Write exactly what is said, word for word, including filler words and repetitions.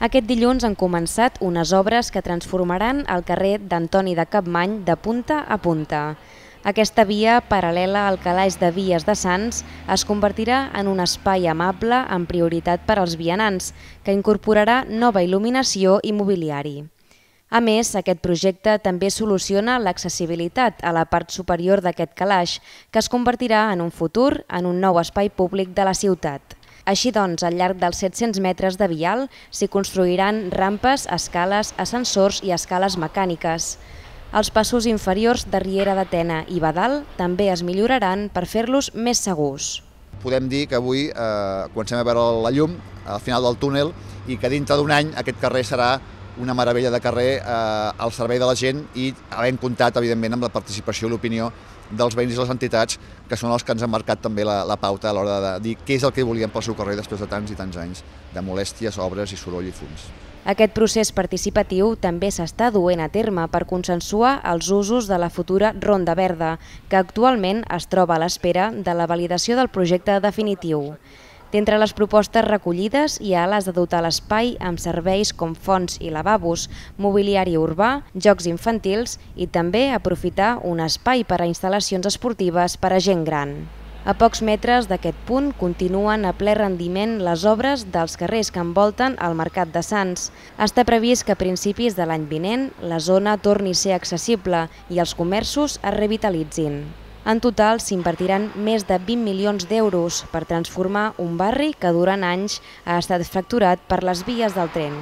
Aquest dilluns han començat unes obres que transformaran el carrer d'Antoni de Capmany de punta a punta. Aquesta via, paral·lela al calaix de vies de Sants, es convertirà en un espai amable amb prioritat per als vianants, que incorporarà nova il·luminació i mobiliari. A més, aquest projecte també soluciona l'accessibilitat a la part superior d'aquest calaix, que es convertirà en un futur en un nou espai públic de la ciutat. Així doncs, al llarg dels set-cents metres de vial s'hi construiran rampes, escales, ascensors i escales mecàniques. Els passos inferiors de Riera de Tena i Badal també es milloraran per fer-los més segurs. Podem dir que avui eh, comencem a veure la llum al final del túnel i que dintre d'un any aquest carrer serà una meravella de carrer eh, al servei de la gent i havent comptat, evidentment, amb la participació i l'opinió dels veïns i les entitats, que són els que ens han marcat també la, la pauta a l'hora de dir què és el que volíem pel seu carrer després de tants i tants anys de molèsties, obres i soroll i fums. Aquest procés participatiu també s'està duent a terme per consensuar els usos de la futura Ronda Verda, que actualment es troba a l'espera de la validació del projecte definitiu. D'entre les propostes recollides hi ha les de dotar l'espai amb serveis com fonts i lavabos, mobiliari urbà, jocs infantils i també aprofitar un espai per a instal·lacions esportives per a gent gran. A pocs metres d'aquest punt continuen a ple rendiment les obres dels carrers que envolten el Mercat de Sants. Està previst que a principis de l'any vinent la zona torni a ser accessible i els comerços es revitalitzin. En total s'invertiran més de vint milions d'euros per transformar un barri que durant anys ha estat fracturat per les vies del tren.